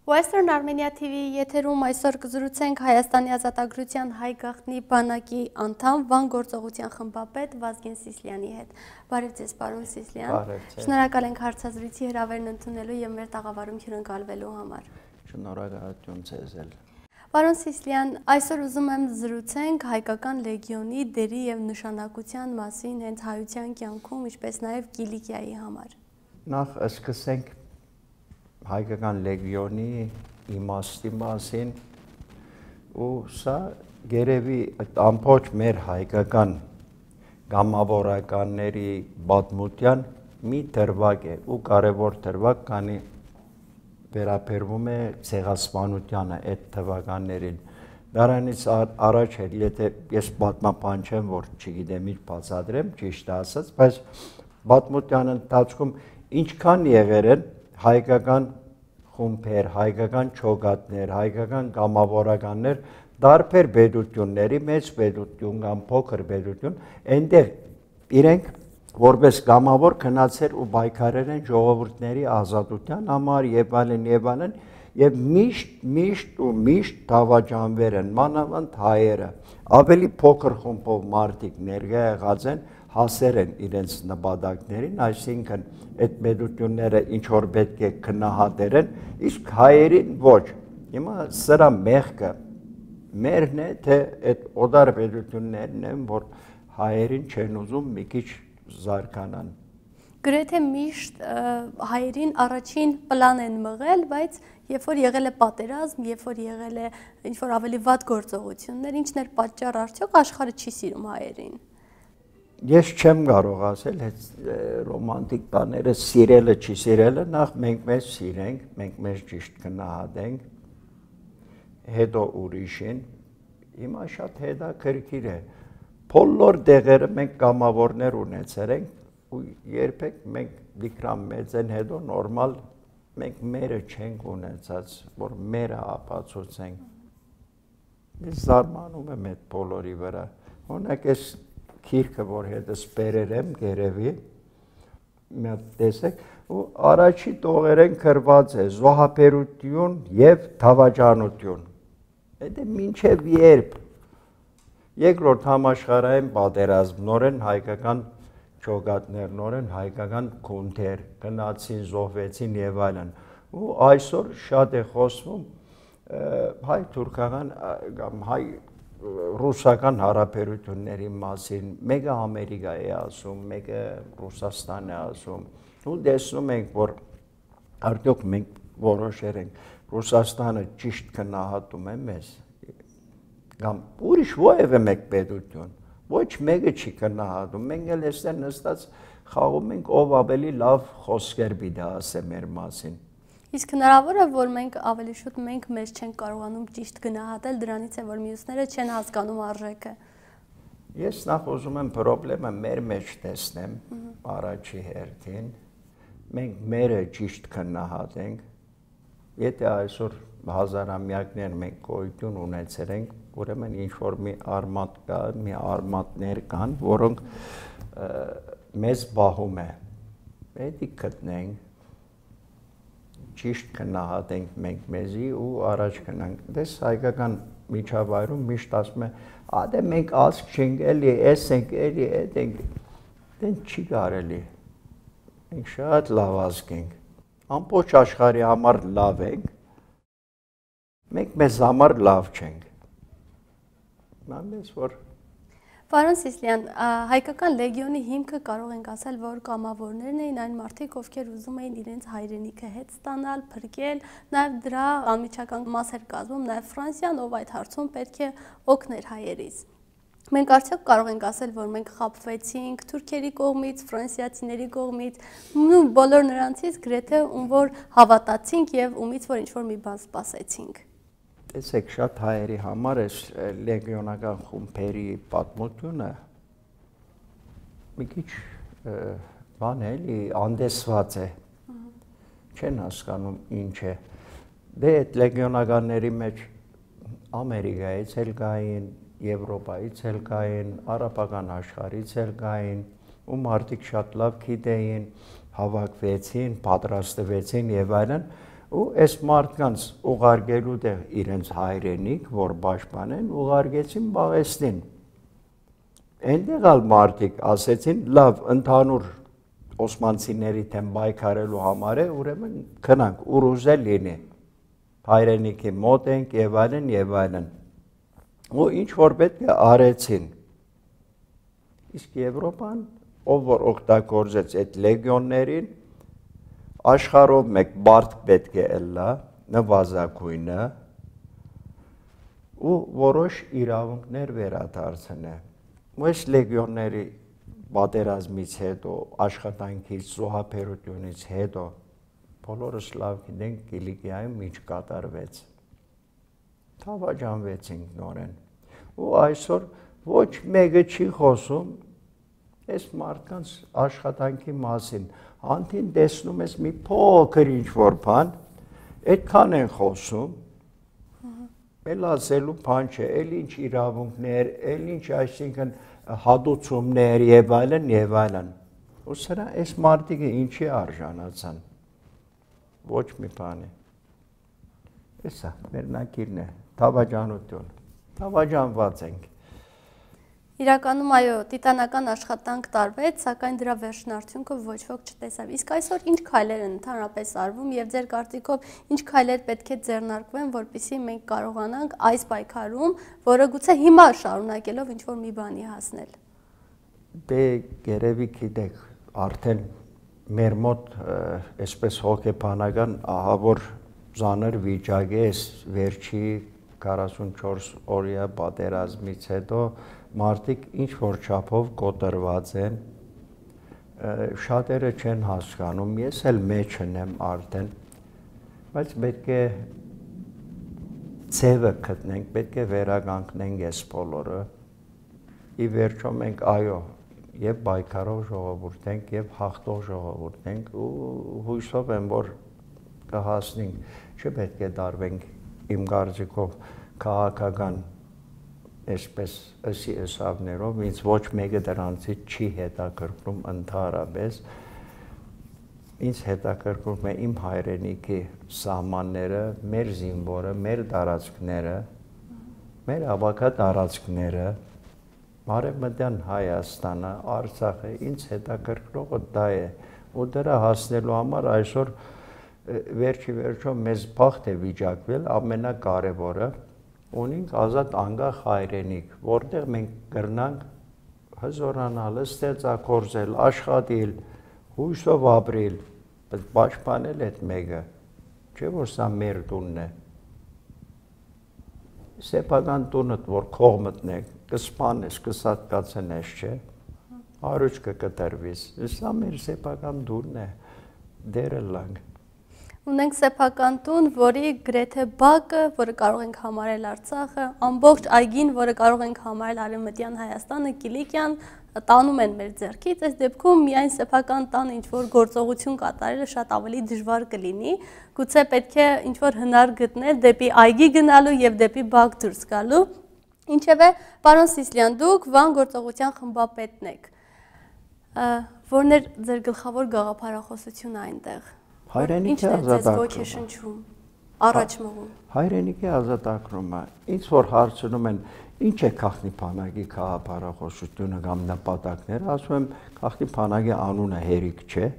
Western Armenia TV եթերում այսօր կզրուցենք Հայաստանի ազատագրության հայ գաղտնի բանակի անդամ Վան գործողության խմբապետ Վազգեն Սիսլյանի հետ։ Բարև ձեզ, պարոն Սիսլյան։ Շնորհակալ ենք հարցազրույցի հրավերն ընդունելու եւ մեր տաղավարում հյուրընկալվելու համար։ Շնորհակալություն ձեզ էլ։ Պարոն Սիսլյան, այսօր ուզում եմ զրուցենք հայկական լեգիոնի դերի եւ նշանակության մասին հենց հայության կյանքում, ինչպես նաեւ Կիլիկիայի համար։ Նախ սկսենք հայկական լեգիոնի իմաստի մասին ու սա գերեւի ամբողջ մեր հայկական գամավորականների պատմության մի դրվագ է ու կարևոր դրվագ, քանի վերաբերվում է ցեղասպանությանը այդ թվականներին։ Դրանից առաջ էր, եթե ես պատմապան չեմ, որ չգիտեմ ինչ բացատրեմ, ճիշտ ասած, բայց պատմության ընթացքում ինչքան եղել են հայկական խումբեր, հայկական չոգատներ, հայկական գամավորականներ, տարբեր պետությունների, մեծ պետություն կամ փոքր պետություն, այնտեղ իրենք որպես գամավոր քնացել ու պայքարել են ժողովուրդների ազատության համար եւ այլն եւ միշտ դավաճանվել են մանավանդ հայերը ավելի փոքր խումբով մարդիկ ներկա եղած են հասել են իրենց նպատակներին, այսինքն այդ պետությունները ինչ որ պետք է քննադատեն, իսկ հայերին ոչ։ Հիմա սրա մեղքը մերն է, թե այդ օտար պետություններն են, որ հայերին չեն ուզում մի քիչ զարգանան։ Գրեթե միշտ հայերին առաջին պլան են մղել, բայց երբ որ եղել է պատերազմ, երբ որ եղել է ինչ-որ ավելի վատ գործողություններ, ինչն էր պատճառ արդյոք աշխարհը չի սիրում հայերին։ Ես չեմ կարող ասել, այդ ռոմանտիկ բաները սիրելը չի սիրելը, նախ մենք մեզ սիրենք, մենք մեզ ճիշտ գնահատենք, հետո ուրիշին, հիմա շատ հետաքրքիր է։ Բոլոր դեղերը մենք կամավորներ ունեցել ենք ու երբեք մենք դիկրամ մեծեն հետո նորմալ մենք մերը չենք ունեցած, որ մերը ապացուցենք։ Ես զարմանում եմ այդ բոլորի վրա։ Օրինակ այս քիրքը, որ հետս բերել եմ գերեւի, մի հատ տեսեք, ու առաջի տողերեն գրված է զոհաբերություն եւ դավաճանություն։ Դա մինչեւ երբ Երկրորդ համաշխարհային պատերազմ, նորեն հայկական չոգատներ, նորեն հայկական քունթեր գնացին, զոհվեցին եւ այլն։ Ու այսօր շատ է խոսվում հայ-թուրքական կամ հայ-ռուսական հարաբերությունների մասին։ Մեկը Ամերիկա է ասում, մեկը Ռուսաստան է ասում։ Ու տեսնում ենք, որ արդյոք մենք որոշեր ենք Ռուսաստանը ճիշտ գնահատում է մեզ։ Կամ ուրիշ որևէ մեկ պետություն, ոչ մեկը չի գնահատում, մենք էլ այստեղ նստած խաղում ենք ով ավելի լավ խոսքեր պիտի ասե մեր մասին։ Իսկ հնարավոր է, որ մենք ավելի շուտ մենք մեզ չենք կարողանում ճիշտ գնահատել, դրանից է որ մյուսները չեն հասկանում արժեքը։ Ես նախ ուզում եմ խնդրեմը մեր մեջ տեսնեմ առաջի հերթին, մենք մերը ճիշտ գնահատենք, եթե այսօր հազարամյակներ մենք գոյություն ունեցել ենք, ուրեմն ինչ-որ մի արմատ կա, մի արմատներ կան, որոնք մեզ բահում է, պետք գտնենք, ճիշտ գնահատենք մենք մեզի ու առաջ գնանք։ Դες հայկական միջավայրում միշտ ասում է, դե մենք ազգ չենք էլի, էս ենք էլի, էդ ենք, դեն չի կարելի, մենք շատ լավ ազգ ենք, ամբողջ աշխարհի համար լավ ենք, մենք մեզ համար լավ չենք։ Պարոն Սիսլյան, հայկական լեգիոնի հիմքը կարող ենք ասել, որ կամավորներն էին այն մարդիկ, ովքեր ուզում էին իրենց հայրենիքը հետ ստանալ, փրկել, նաև դրա անմիջական մաս էր կազմում նաև Ֆրանսիան, ով այդ հարցում պետք է օգներ հայերից։ Մենք արդյոք կարող ենք ասել, որ մենք խաբվեցինք թուրքերի կողմից, ֆրանսիացիների կողմից, բոլոր նրանցից գրեթե ում որ հավատացինք եւ ումից որ ինչ-որ մի բան սպասեցինք։ Տեսեք, շատ հայերի համար այս լեգիոնական խումբերի պատմությունը մի քիչ բան էլի անդեսված է, չեն հասկանում ինչ է։ Դե այդ լեգիոնականների մեջ Ամերիկայից էլ կային, Եվրոպայից էլ կային, արաբական աշխարհից էլ կային, ու մարդիկ շատ լավ գիտեին, հավաքվեցին, պատրաստվեցին եւ այլն, ու այս մարդկանց ուղարկելու տեղ իրենց հայրենիք, որ պաշտպանեն, ուղարկեցին Բաղեստին։ Այնտեղ ալ մարդիկ ասեցին, լավ, ընդհանուր օսմանցիների դեմ պայքարելու համար է, ուրեմն քնանք, ուռուզե լինի, հայրենիքի մոտ ենք եւ այլն եւ այլն։ Ու ինչ որ պետք է արեցին։ Իսկ Եվրոպան, ով որ օգտագործեց այդ լեգիոններին, աշխարհով մեկ բարդ պետք է ելնա, նվազագույնը, ու որոշ իրավունքներ վերադարձնե։ Ու այս լեգիոնների պատերազմից հետո, աշխատանքից, զոհաբերությունից հետո բոլորս լավ գիտենք Կիլիկիայում ինչ կատարվեց։ Թավաճանվեցինք նորեն։ Ու այսօր ոչ մեկը չի խոսում այս մարդկանց աշխատանքի մասին։ Անդին տեսնում ես մի փոքր ինչ-որ բան, այդքան են խոսում, էլ ասելու բան չէ, էլ ինչ իրավունքներ, էլ ինչ, այսինքն հատուցումներ եւ այլն, ու սրա այս մարդիկը ինչի արժանացան, ոչ մի բանի, էսա մերնակիրն է, թավաճանություն, թավաճանված ենք։ Իրականում այո, տիտանական աշխատանք տարվեց, սակայն դրա վերջին արդյունքը ոչ ոք չտեսավ։ Իսկ այսօր ինչ քայլեր են ընդհանրապես արվում եւ ձեր կարծիքով ինչ քայլեր պետք է ձեռնարկվեն, որպեսզի մենք կարողանանք այս պայքարում, որը գուցե հիմա շարունակելով ինչ-որ մի բանի հասնել։ Դե երևի գիտեք, արդեն մեր մոտ այսպես հոգեբանական ահավոր ծանր վիճակ է վերջի 44 օրյա պատերազմից հետո մարդիկ ինչ որ չափով կոտրված են, շատերը չեն հասկանում, ես էլ մեջն եմ արդեն, բայց պետք է ձևը գտնենք, պետք է վերականգնենք այս բոլորը, ի վերջո մենք այո, եւ պայքարող ժողովուրդ ենք, եւ հաղթող ժողովուրդ ենք, ու հույսով եմ, որ կհասնենք, չպետք է դարվենք իմ կարծիքով քաղաքական այսպես ըսի ըսավներով, ինձ ոչ մեկը դրանցից չի հետաքրքրում ընդհանրապես, ինձ հետաքրքրում է իմ հայրենիքի սահմանները, մեր զինվորը, մեր տարածքները, մեր ավագա տարածքները, Արևմտյան Հայաստանը, Արցախը, ինձ հետաքրքրողը դա է, ու դրա հասնելու համար այսօր վերջի վերջո մեզ բախտ է վիճակվել, ամենակարևորը ունենք ազատ անկախ հայրենիք, որտեղ մենք կրնանք հզորանալ, ստեղծագործել, աշխատել, հույսով ապրել, բայց պաշտպանել այդ մեկը, չէ որ սա մեր տունն է։ Սեփական տունդ, որ քող մտնեք, կսպանես, կսատկացնես, չէ, հարուճ կկտրվիս, սա մեր սեփական տունն է, դերը լանք։ Ունենք սեփական տուն, որի գրեթե բակը, որը կարող ենք համարել Արցախը, ամբողջ այգին, որը կարող ենք համարել Արևմտյան Հայաստանը, Կիլիկիան, տանում են մեր ձեռքից, այս դեպքում միայն սեփական տան ինչ-որ գործողություն կատարելը շատ ավելի դժվար կլինի, գուցե պետք է ինչ-որ հնար գտնել դեպի այգի գնալու եւ դեպի բակ դուրս գալու։ Ինչևէ, պարոն Սիսլյան, դուք Վան գործողության խմբապետն եք, որն էր ձեր գլխավոր գաղափարախոսությունը այնտեղ։ Հայրենիքի ազատագրումը, առաջ մղում։ Հայրենիքի ազատագրումը, ինձ որ հարցնում են, ինչ է Գաղտնի բանակի գաղափարախոսությունը կամ նպատակները, ասում եմ, Գաղտնի բանակի անունը հերիք չէ,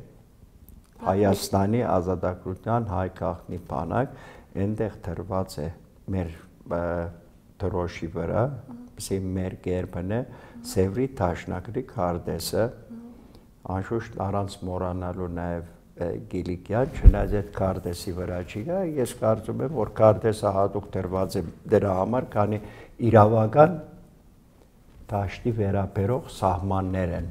Հայաստանի ազատագրության հայ Գաղտնի բանակ, այնտեղ դրված է մեր դրոշի վրա, մեր գերբն է, Սևրի Դաշնակցի քարտեզը, անշուշտ առանց մոռանալու նաև Կիլիկիան, չնայած այդ քարտեզի վրա չի գա, ես կարծում եմ, որ քարտեզը հատուկ դրված է դրա համար, քանի իրավական դաշտի վերաբերող սահմաններ են,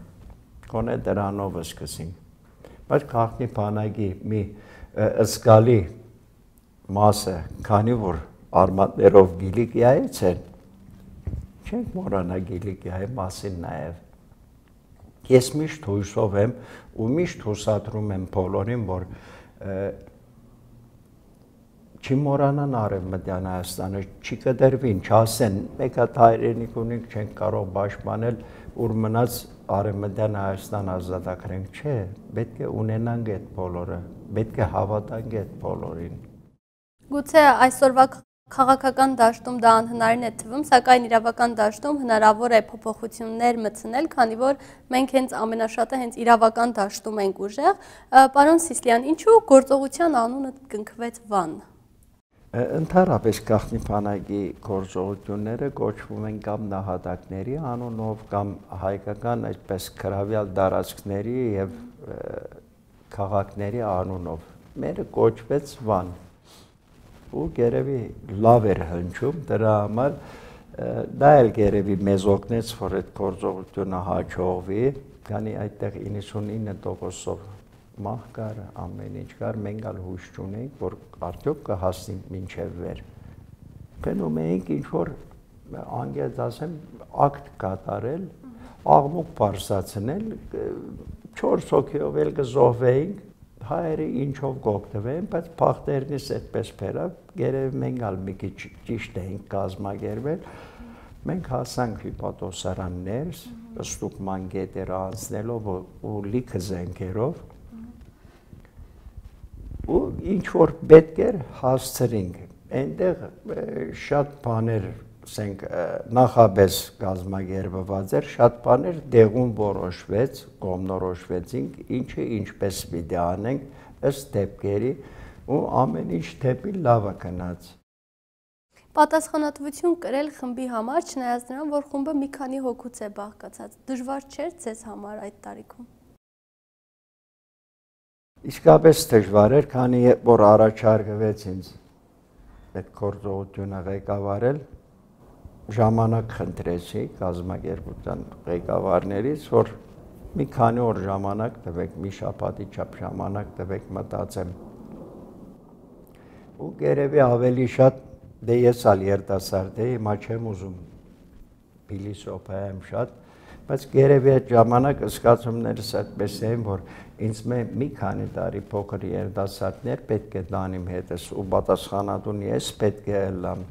գոնե դրանով սկսենք, բայց Գաղտնի բանակի մի զգալի մասը, քանի որ արմատներով Կիլիկիայից են, չենք մոռանա Կիլիկիայի մասին նաև։ Ես միշտ հույսով եմ ու միշտ հուսադրում եմ բոլորին, որ չմոռանան Արևմտյան Հայաստանը, չկտրվին, չասեն, մեկ հատ հայրենիք ունենք, չենք կարող պաշտպանել, ուր մնաց Արևմտյան Հայաստան ազատագրենք, չէ, պետք է ունենանք այդ բոլորը, պետք է հավատանք այդ բոլորին։ Գուցե այսօրվա քաղաքական դաշտում դա անհնարին է թվում, սակայն իրավական դաշտում հնարավոր է փոփոխություններ մտցնել, քանի որ մենք հենց ամենաշատը հենց իրավական դաշտում ենք ուժեղ։ Պարոն Սիսլյան, ինչու գործողության անունը կնքվեց Վան։ Ընդհանրապես գաղտնի բանակի գործողությունները կոչվում են կամ նահատակների անունով, կամ հայկական այսպես գրավյալ տարածքների եւ քաղաքների անունով։ Մերը կոչվեց Վան։ Ու գերևի լավ էր հնչում, դրա համար դա էլ գերևի մեզ օգնեց, որ այդ գործողությունը հաջողվի, քանի այդտեղ 99%-ով մահ կար, ամեն ինչ կար, մենք ալ հույս չունեինք, որ արդյոք կհասնենք մինչև վեր։ Գնում էինք ինչ-որ, անգեծ ասեմ, ակտ կատարել, աղմուկ պարզացնել, 4 հոգիով էլ կզոհվեինք, հայերը ինչով կօգտվեն, բայց փախտերնից այդպես բերավ, գերեւի մենք ալ մի քիչ ճիշտ էինք կազմակերպել, մենք հասանք հիպատոսարան ներս, ստուգման գետերը անցնելով ու լիքը զենքերով, ու ինչ որ պետք էր հասցրինք, այնտեղ շատ բաներ ասենք նախապես կազմակերպված էր, շատ բաներ դեղում որոշվեց, կողմնորոշվեցինք, ինչը ինչպես պիտի անենք ըստ դեպքերի ու ամեն ինչ դեպի լավը գնաց։ Պատասխանատվություն կրել խմբի համար, չնայած նրան, որ խումբը մի քանի հոգուց է բաղկացած, դժվար չէր ձեզ համար այդ տարիքում։ Իսկապես դժվար էր, քանի որ առաջարկվեց ինձ այդ գործողությունը ղեկավարել, ժամանակ խնդրեցի կազմակերպության ղեկավարներից, որ մի քանի օր ժամանակ տվեք, մի շաբաթի չափ ժամանակ տվեք մտածեմ։ Ու գերևի ավելի շատ, դե ես ալ երիտասարդ էի, հիմա չեմ ուզում փիլիսոփայեմ շատ, բայց գերևի այդ ժամանակ զգացումներս այդպես էին, որ ինձ մի քանի տարի փոքր երիտասարդներ պետք է տանիմ հետս ու պատասխանատուն ես պետք է լամ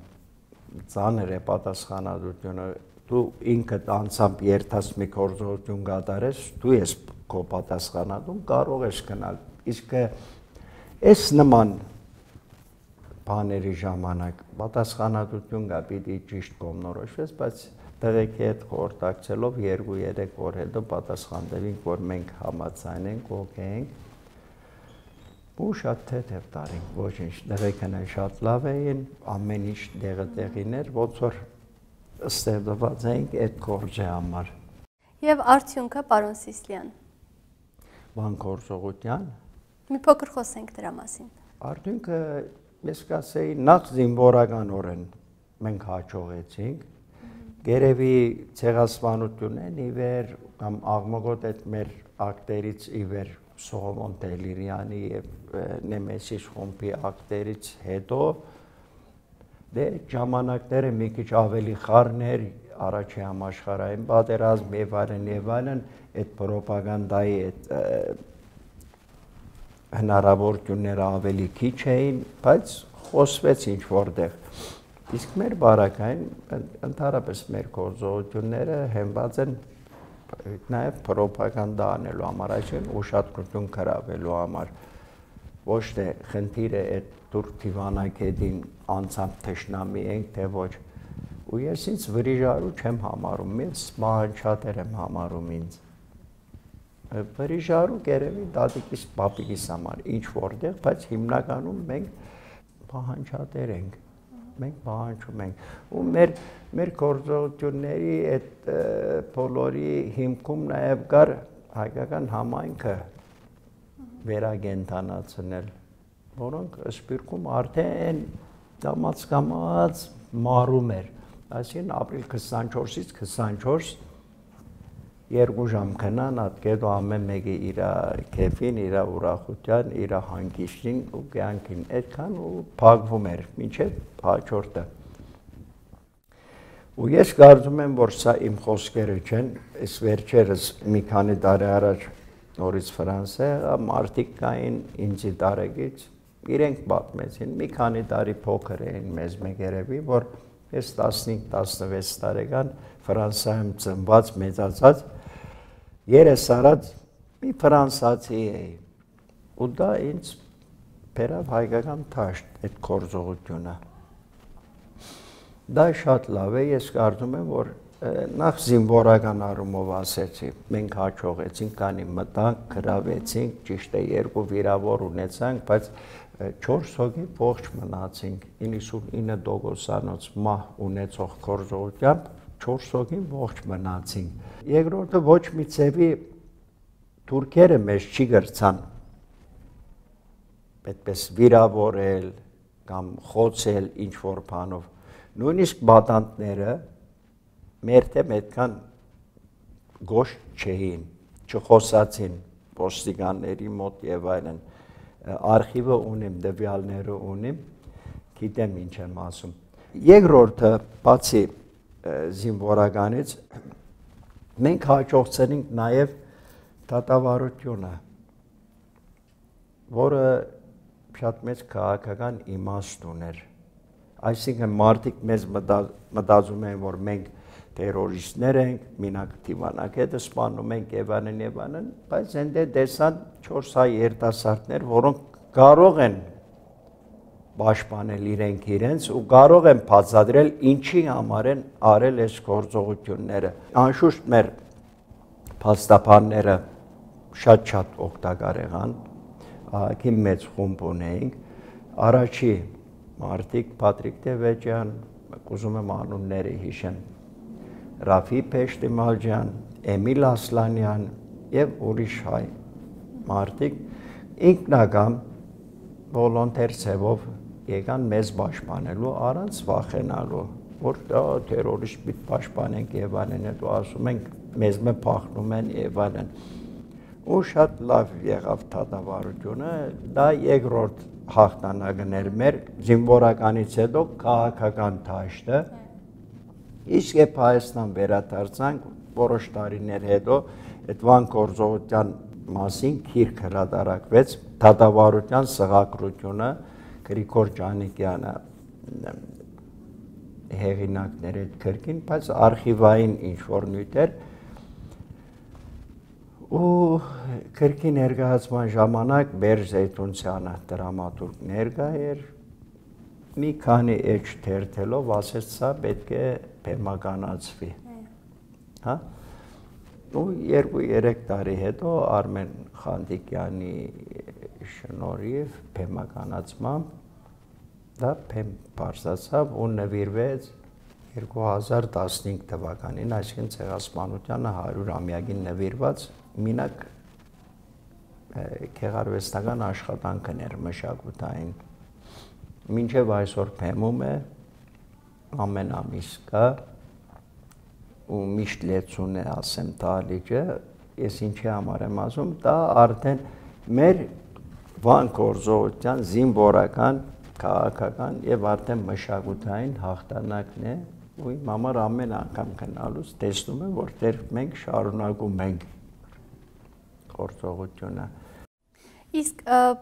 ծանր է պատասխանատվությունը, դու ինքդ անձամբ երթած մի գործողություն կատարես, դու ես քո պատասխանատուն, կարող ես գնալ, իսկ այս նման բաների ժամանակ պատասխանատվություն կա, պիտի ճիշտ կողմնորոշվես, բայց տղեկի հետ խորհրդակցելով 2-3 օր հետո պատասխան տվինք, որ մենք համաձայնենք, օքեյ ենք, ու շատ թեթև տարինք, ոչինչ, տղեկն շատ լավ էին, ամեն ինչ տեղին էր, ոնց որ ստեղծված էինք այդ գործի համար։ Եվ արդյունքը, պարոն Սիսլյան։ Բան գործողության։ Մի փոքր խոսենք դրա մասին։ Արդյունքը, ես կասեի, նախ զինվորականորեն մենք հաջողեցինք, գերևի ցեղասպանությունն ի վեր կամ աղմուկոտ այդ մեր ակտերից ի վեր Սողոմոն Տելիրյանի եւ Նեմեսիս խումբի ակտերից հետո դե ժամանակները մի քիչ ավելի խառներ, առաջի համաշխարհային պատերազմ եւ այլն, այդ ռոպագանդայի այդ հնարավորությունները ավելի քիչ էին, բայց խոսվեց ինչ որտեղ։ Իսկ մեր բարակային ընդհանրապես մեր գործողությունները հենված են նաև ռոպագանդա անելու համար, այսինքն ուշադրություն գրավելու համար, ոչ թե խնդիրը այդ դուր դիվանագետին անցամբ թշնամի ենք, թե ոչ։ Ու ես ինձ վրիժարու չեմ համարում, ես մահանջատեր եմ համարում ինձ։ Վրիժարու գերևի դատիկիս պապիկիս համար ինչ որտեղ, բայց հիմնականում մենք մահանջատեր ենք։ Մենք պահանջում ենք ու մեր գործողությունների այդ բոլորի հիմքում նաև կար հայկական համայնքը վերագենթանացնել, որոնք սպիրկում արդեն կամաց մարում էր, այսինքն ապրիլ 24-ից 24 2 ժամ քնան ատկեդո ամեն մեկը իր քեֆին, իր ուրախության, իր հանգիստին ու կյանքին այդքան ու փակվում էր մինչև հաջորդը։ Ու ես կարծում եմ, որ սա իմ խոսքերը չեն, այս վերջերս մի քանի տարի առաջ նորից Ֆրանսիա մարդիկ կային ինձի տարեկից, իրենք պատմեցին, մի քանի տարի փոքր էին մեզ մեկերևի, որ ես 15-16 տարեկան Ֆրանսիայում ծնված, մեծացած երես արած մի ֆրանսացի էի ու դա ինձ բերավ հայկական թաշտ այդ կորձողությունը։ Դա շատ լավ է, ես կարծում եմ, որ նախ զինվորական առումով ասեցի, մենք հաջողեցինք, կանի մտանք, գրավեցինք, ճիշտ է 2 վիրավոր ունեցանք, բայց 4 հոգի ողջ մնացինք, 99%-անոց մահ ունեցող կորձողությամբ 4 հոգին ողջ մնացինք։ Երկրորդը ոչ մի ձևի թուրքերը մեզ չի գրցան, այդպես վիրավորել կամ խոցել ինչ-որ բանով, նույնիսկ բադանտները մեր դեմ այդքան գոշտ չէին, չխոսացին ոստիկանների մոտ եւ այլն, արխիվը ունիմ, դվյալները ունիմ, գիտեմ ինչ եմ ասում։ Երկրորդը, բացի զինվորականից, մենք հաջողեցինք նաեւ դատավարությունը, որը շատ մեծ քաղաքական իմաստ ուներ։ Այսինքն մարդիկ մեզ մտածում են, որ մենք տերորիստներ ենք, մինակ դիվանագետը սպանում ենք եւ այլն, բայց այնտեղ տեսան 4 հայ երիտասարդներ, որոնք կարող են պաշտպանել իրենց ու կարող են բացատրել ինչի համար են արել այս գործողությունները։ Անշուշտ մեր փաստաբանները շատ օգտակար եղան, ահագի մեծ խումբ ունեինք, առաջի մարդիկ Պատրիկ Տևեջյան, ուզում եմ անունները հիշեմ, Ռաֆի Փեշտիմալջյան, Էմիլ Ասլանյան եւ ուրիշ հայ մարդիկ ինքնական վոլոնտեր ձևով եկան մեզ պաշտպանելու առանց վախենալու, որ դա տերորիստ պիտի պաշտպանենք եւ այլն, հետո ասում ենք մեզ մը փախնում են եւ այլն։ Ու շատ լավ եղավ դատավարությունը, դա երկրորդ հաղթանակն էր մեր զինվորականից հետո քաղաքական դաշտը, իսկ երբ Հայաստան վերադարձանք որոշ տարիներ հետո այդ Վան գործողության մասին գիրք հրատարակվեց դատավարության սղագրությունը Գրիգոր Ջանիկյանը հեղինակներ այդ գրքին, բայց արխիվային ինչ-որ նյութեր ու գրքի ներկայացման ժամանակ Բերժ Զեյթունցյանը դրամատուրգ ներկա էր, մի քանի էջ թերթելով ասեց սա պետք է բեմականացվի, հա, ու 2-3 տարի հետո Արմեն Խանդիկյանի շնորհիվ բեմականացմամբ դա բեմ բարձրացավ ու նվիրվեց 2015 թվականին, այսինքն Ցեղասպանությանը 100-ամյակին նվիրված մինակ գեղարվեստական աշխատանքն էր մշակութային, մինչև այսօր բեմում է, ամեն ամիս կա ու միշտ լեցուն է ասեմ տալիճը, ես ինչի համար եմ ասում, դա արդեն մեր Վան գործողության զինվորական, քաղաքական եւ արդեն մշակութային հաղթանակն է, ու իմ համար ամեն անգամ գնալուց տեսնում եմ, որ դեռ մենք շարունակում ենք գործողությունը։ Իսկ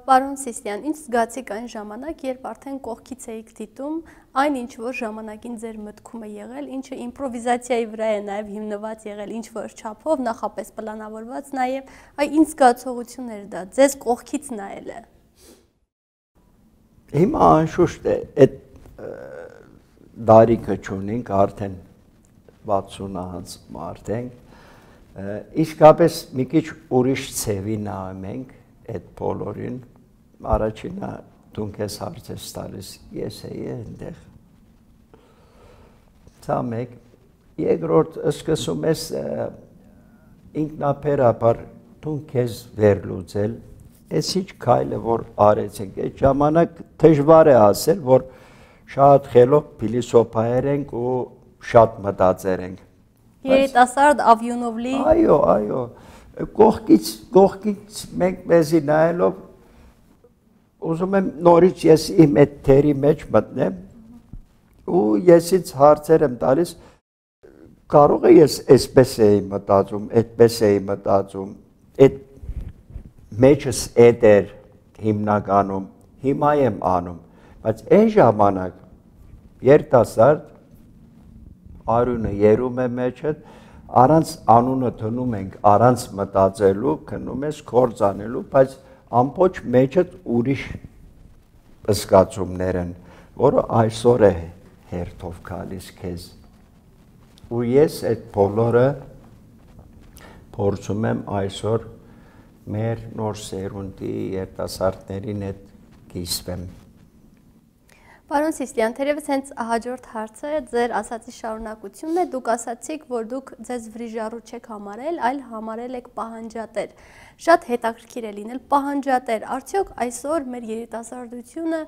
պարոն Սիսլյան, ինչ զգացիք այն ժամանակ, երբ արդեն կողքից էիք դիտում այն ինչ որ ժամանակին ձեր մտքում է եղել, ինչը իմպրովիզացիայի վրա է նաև հիմնված եղել, ինչ որ չափով, նախապես պլանավորված, նաև այ ինչ զգացողություն էր դա, ձեզ կողքից նայելը։ Հիմա անշուշտ է, այդ դարիքը չունենք, արդեն 60-ից մարդ ենք, իսկապես մի քիչ ուրիշ ցևի նայում ենք այդ բոլորին, առաջինը դու քեզ հարց ես տալիս, ես էի այնտեղ։ Դա մեկ, երկրորդ սկսում ես ինքնաբերաբար դու քեզ վերլուծել, այս ինչ քայլը որ արեցինք, այդ ժամանակ դժվար է ասել, որ շատ խելոք փիլիսոփայեր ենք ու շատ մտածեր ենք։ Երիտասարդ Ավյունովլի։ Այո, կողքից մենք մեզի նայելով ուզում եմ նորից ես իմ այդ թերի մեջ մտնեմ ու եսից հարցեր եմ տալիս, կարող է ես այսպես էի մտածում, այդպես էի մտածում, այդ մեջս էդ էր հիմնականում, հիմա եմ անում, բայց այն ժամանակ երիտասարդ արյունը երում է մեջդ, առանց անունը դնում ենք, առանց մտածելու, քնում ես գործանելու, բայց ամբողջ մեջդ ուրիշ զգացումներն, որը այսօր է հերթով գալիս քեզ։ Ու ես այդ բոլորը փորձում եմ այսօր մեր նոր սերունդի երիտասարդներին հետ կիսվեմ։ Պարոն Սիսլյան, թերևս հենց հաջորդ հարցը ձեր ասացի շարունակությունն է, դուք ասացիք, որ դուք ձեզ վրիժառու չեք համարել, այլ համարել եք պահանջատեր։ Շատ հետաքրքիր է լինել պահանջատեր, արդյոք այսօր մեր երիտասարդությունը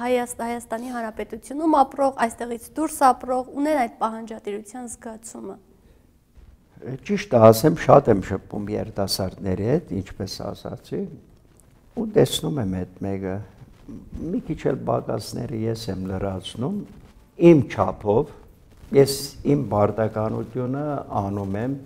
Հայաստանի Հանրապետությունում ապրող, այստեղից դուրս ապրող ունեն այդ պահանջատիրության զգացումը։ Ճիշտ ասեմ, շատ եմ շփվում երիտասարդների հետ, ինչպես ասացի, ու տեսնում եմ այդ մեկը մի քիչ էլ բակասները ես եմ լրացնում իմ չափով, ես իմ բարդականությունը անում եմ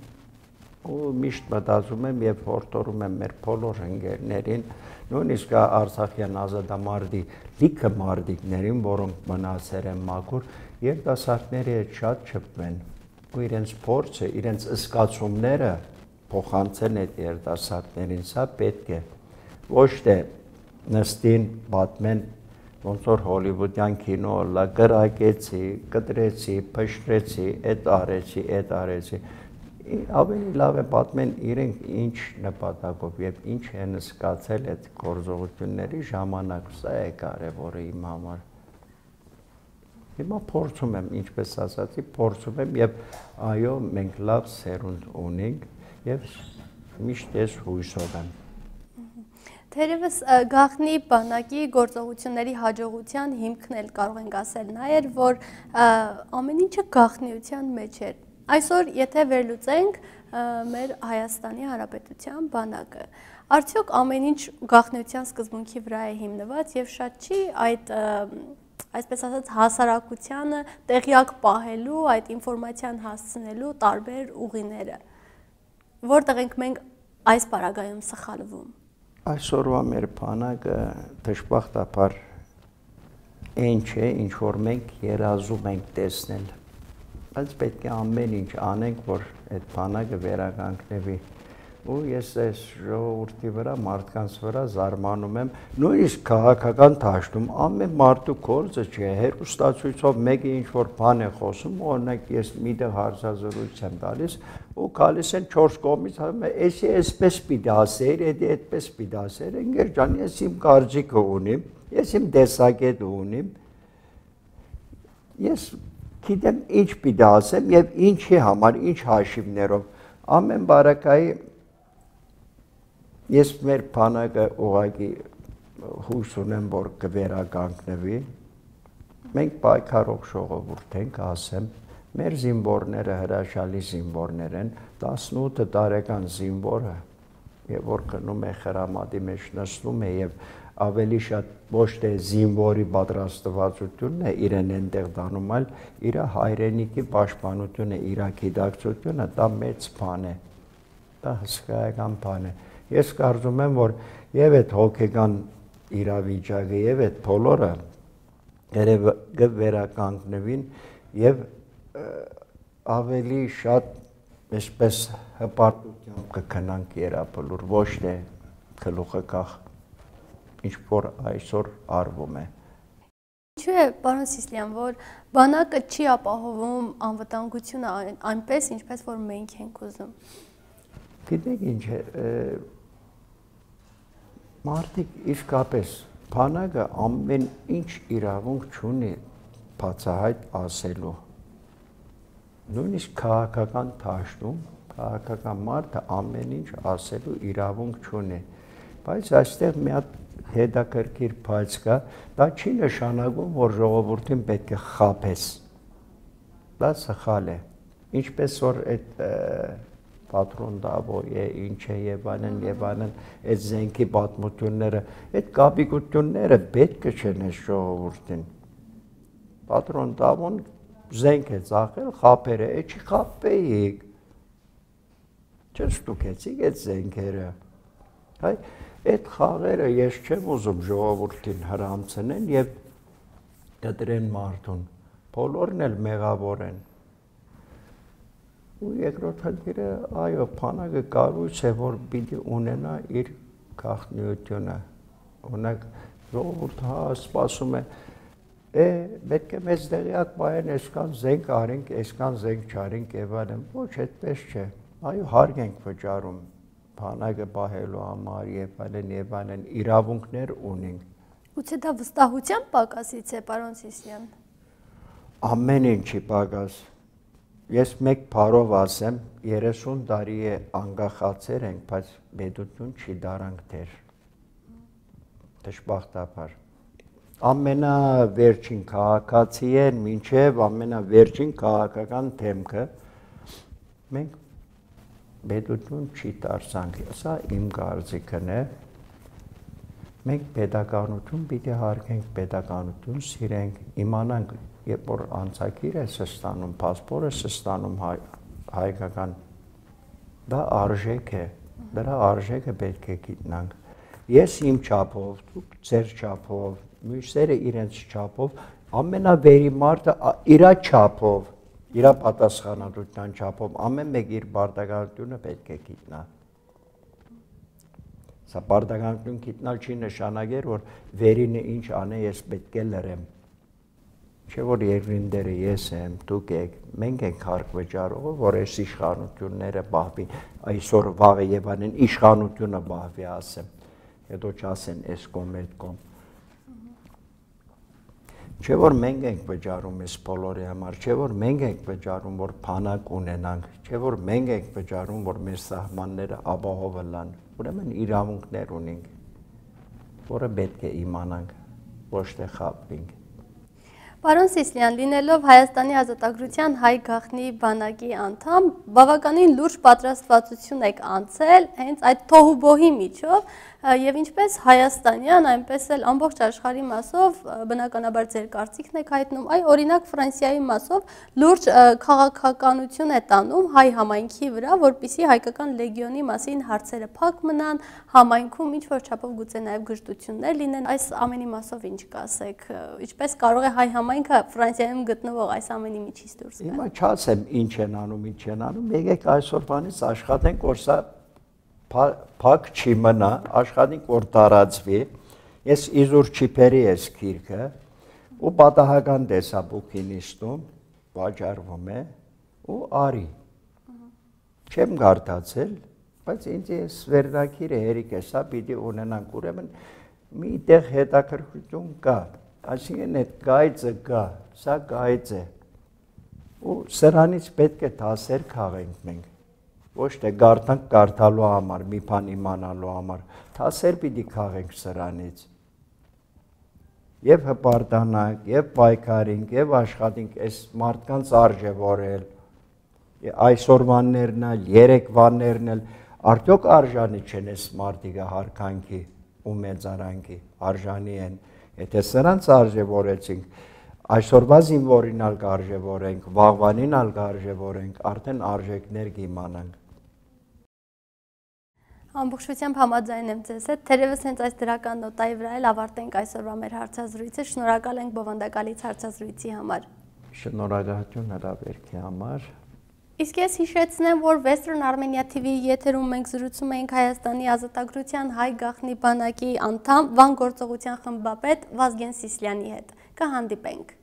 ու միշտ մտածում եմ եւ հորդորում եմ մեր բոլոր ընկերներին, նույնիսկ արցախյան ազատամարտի լիքը մարտիկներին, որոնք մնացել են մաքուր, երիտասարդների հետ շատ շփվեն ու իրենց փորձը, իրենց զգացումները փոխանցեն այդ երիտասարդներին, սա պետք է ոչ թե նստին պատմեն ոնց որ հոլիվուդյան կինո լա գրակեցի, կտրեցի, փշրեցի, այդ արեցի, ավելի լավ է պատմեն իրենք ինչ նպատակով եւ ինչ են զգացել այդ գործողությունների ժամանակ, սա է կարևորը իմ համար։ Հիմա փորձում եմ, ինչպես ասացի, փորձում եմ եւ այո, մենք լավ սերունդ ունենք եւ միշտ ես հույսով եմ։ Թերևս գաղտնի բանակի գործողությունների հաջողության հիմքն էլ կարող ենք ասել նա էր, որ ամեն ինչը գաղտնիության մեջ էր։ Այսօր, եթե վերլուծենք մեր Հայաստանի Հանրապետության բանակը, արդյոք ամեն ինչ գաղտնիության սկզբունքի վրա է հիմնված եւ շատ չի այդ այսպես ասած հասարակությանը տեղյակ պահելու, այդ ինֆորմացիան հասցնելու տարբեր ուղիները, որտեղ ենք մենք այս պարագայում սխալվում։ Այսօրվա մեր բանակը դժբախտաբար այն չէ, ինչ որ մենք երազում ենք տեսնել, բայց պետք է ամեն ինչ անենք, որ այդ բանակը վերականգնվի։ Ու ես այս ժողովրդի վրա, մարդկանց վրա զարմանում եմ, նույնիսկ քաղաքական դաշտում ամեն մարդու գործը չէ, հեռուստացույցով մեկը ինչ որ բան է խոսում, օրինակ ես միտեղ հարցազրույց եմ տալիս, ու գալիս են 4 կողմից, էսի էսպես պիտի ասեր, էդի այդպես պիտի ասեր, ընկեր ջան, ես իմ կարծիքը ունիմ, ես իմ տեսակետը ունիմ, ես գիտեմ ինչ պիտի ասեմ եւ ինչի համար, ինչ հաշիվներով, ամեն բարակայի ես մեր բանակը ուղղակի հույս ունեմ, որ կվերականգնվի, մենք պայքարող ժողովուրդ ենք, ասեմ, մեր զինվորները հրաշալի զինվորներ են, 18 տարեկան զինվորը, որ գնում է խրամատի մեջ նստում է եւ ավելի շատ ոչ թե զինվորի պատրաստվածությունն է իրեն այնտեղ դանում, այլ իր հայրենիքի պաշտպանությունը, իր գիտակցությունը, դա մեծ բան է, դա հսկայական բան է։ Ես կարծում եմ, որ եւ այդ հոգեկան իրավիճակը եւ այդ բոլորը կվերականգնվին եւ ավելի շատ այսպես հպարտությամբ կգնանք երապլուր, ոչ թե գլուխը կախ, ինչ որ այսօր արվում է։ Ինչու է, պարոն Սիսլյան, որ բանակը չի ապահովում անվտանգությունը այնպես, ինչպես որ մենք ենք ուզում։ Գիտեք ինչ է, մարդիկ իսկապես բանակը ամեն ինչ իրավունք չունի բացահայտ ասելու։ Նույնիսկ քաղաքական դաշտում քաղաքական մարդը ամեն ինչ ասելու իրավունք չունի, բայց այստեղ մի հատ հետաքրքիր բաց կա, դա չի նշանակում, որ ժողովրդին պետք է խաբես, դա սխալ է, ինչպես որ այդ պատրոն դավոյ է, ինչ է եւ այլն, այդ զենքի պատմությունները, այդ կապիկությունները պետք է չեն այս ժողովրդին։ Պատրոն դավոն զենք է ծախել, խաբեր է, չի խաբեիք, չստուկեցիք այդ զենքերը, հայ, այդ խաղերը ես չեմ ուզում ժողովրդին հրամցնեն եւ կտրեն մարդուն, բոլորն էլ մեղավոր են։ Ու երկրորդ խնդիրը, այո, բանակը կառույց է, որ պիտի ունենա իր գաղտնիությունը, օրինակ ժողովուրդը սպասում է, պետք է մեզ դեղյակ բայեն, այսքան զենք արենք, այսքան զենք չարենք եւ այլն, ոչ այդպես չէ, այո հարկ ենք վճարում բանակը պահելու համար եւ այլն, իրավունքներ ունենք։ Գուցե դա վստահության պակասից է, պարոն Սիսլյան։ Ամեն ինչի պակաս։ Ես մեկ բառով ասեմ, 30 տարի է անկախացել ենք, բայց պետություն չի դարանք դեր։ Դժբախտաբար։ Ամենավերջին քաղաքացի են, մինչև ամենավերջին քաղաքական թեմքը մենք պետություն չի դարձանք, սա իմ կարծիքն է, մենք պետականություն պիտի հարգենք, պետականություն սիրենք, իմանանք, երբ որ անցագիր ես ստանում, պասպոր ես ստանում հայկական, դա արժեք է, դրա արժեքը պետք է գիտնանք, ես իմ չափով, դուք ձեր չափով, մյուսները իրենց չափով, ամենավերի մարդը իրա չափով, իրա պատասխանատվության չափով ամեն մեկ իր պարտականությունը պետք է գիտնա։ Սա պարտականություն գիտնալ չի նշանակեր, որ վերինը ինչ անե ես պետք է լրեմ։ Չէ որ երկրինդերը ես եմ, դուք եք, մենք ենք հարկ վճարողը, որ այս իշխանությունները բահվի, այսօր վաղը եւ անեն իշխանությունը բահվի ասեմ, հետո չասեն այս կողմ այդ կողմ։ Չէ որ մենք ենք վճարում այս բոլորի համար, չէ որ մենք ենք վճարում, որ բանակ ունենանք, չէ որ մենք ենք վճարում, որ մեր սահմանները ապահովը լան, ուրեմն իրավունքներ ունենք, որը պետք է իմանանք, ոչ թե խաբվենք։ Պարոն Սիսլյան, լինելով Հայաստանի ազատագրության հայ գաղտնի բանակի անդամ, բավականին լուրջ պատրաստվածություն եք անցել հենց այդ թոհուբոհի միջով եւ ինչպես հայաստանյան, այնպես էլ ամբողջ աշխարհի մասով բնականաբար ձեր կարծիքն եք հայտնում, այ օրինակ Ֆրանսիայի մասով լուրջ քաղաքականություն է տանում հայ համայնքի վրա, որպիսի հայկական լեգիոնի մասին հարցերը փակ մնան, համայնքում ինչ որ չափով գուցե նաեւ գժտություններ լինեն, այս ամենի մասով ինչ կասեք, ինչպես կարող է հայ համայնքը Ֆրանսիայում գտնվող այս ամենի միջից դուրս գալ։ Հիմա չասեմ ինչ են անում, եկեք այսօրվանից աշխատենք, որ սա փակ չի մնա, աշխատենք, որ տարածվի, ես իզուր չիպերի ես քիրքը, ու պատահական տեսաբուքի նիստում վաճառվում է, ու արի, չեմ գարտացել, բայց ինձ ես վերնակիրը հերիք է, սա պիտի ունենանք, ուրեմն մի տեղ հետաքրքրություն կա, այսինքն այդ գայծը կա, սա գայծ է, ու սրանից պետք է դասեր քաղենք մենք, ոչ թե գարտանք գարտալու համար, մի բան իմանալու համար, դասեր պիտի քաղենք սրանից, և հպարտանանք, և պայքարենք, և աշխատենք այս մարդկանց արժևորել, այսօրվաններն էլ, երեկվաններն էլ, արդյոք արժանի չեն այս մարդիկը հարկանքի ու մեծարանքի, արժանի են, եթե սրանց արժևորեցինք, այսօրվա զինվորին ալ կարժևորենք, վաղվանին ալ կարժևորենք, արդեն արժեքներ կիմանանք։ Ամբողջությամբ համաձայն եմ ձեզ հետ, թերևս հենց այս դրական նոտայի վրա էլ ավարտենք այսօրվա մեր հարցազրույցը, շնորհակալ ենք բովանդակալից հարցազրույցի համար։ Շնորհակալություն հրավերքի համար։ Իսկ ես հիշեցնեմ, որ Western Armenia TV-ի եթերում մենք զրուցում էինք Հայաստանի ազատագրության հայ գաղտնի բանակի անդամ, վան գործողության խմբապետ Վազգեն Սիսլյանի հետ։ Կհանդիպենք։